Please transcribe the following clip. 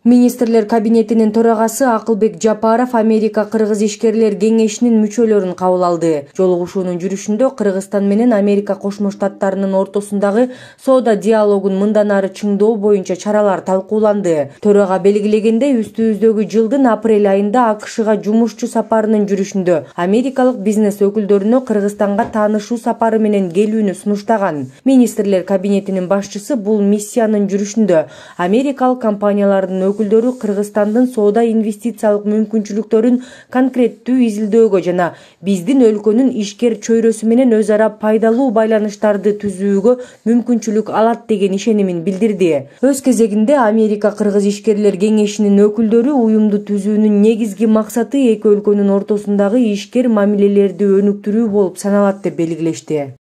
Министрлер кабинетинин төрагасы Акылбек Жапаров Америка-Кыргыз ишкерлер кеңешинин мүчөлөрүн кабыл алды. Жолугушуунун жүрүшүндө Кыргызстан менен Америка Кошмо Штаттарынын ортосундагы соода диалогун мындан ары чыңдоо боюнча чаралар талкууланды. Төрага белгилегендей, үстүбүздөгү жылдын апрель айында АКШга жумушчу сапарынын жүрүшүндө америкалык бизнес өкүлдөрүнө Кыргызстанга таанышуу сапары менен келүүнү сунуштаган. Министрлер кабинетинин башчысы бул миссиянын жүрүшүндө америкалык компаниялардын өкүлдөрү Кыргызстандын соода инвестициялык мүмкүнчүлүктөрүн конкреттүү изилдөөгө жана биздин өлкөнүн ишкер чөйрөсү менен өз ара пайдалуу байланыштарды түзүүгө мүмкүнчүлүк алат деген ишенимин билдирди. Өз кезегинде Америка-Кыргыз ишкерлер кеңешинин өкүлдөрү уюмду түзүүнүн негизги максаты эки өлкөнүн ортосундагы ишкер мамилелерди өнүктүрүү болуп саналат деп белгилешти.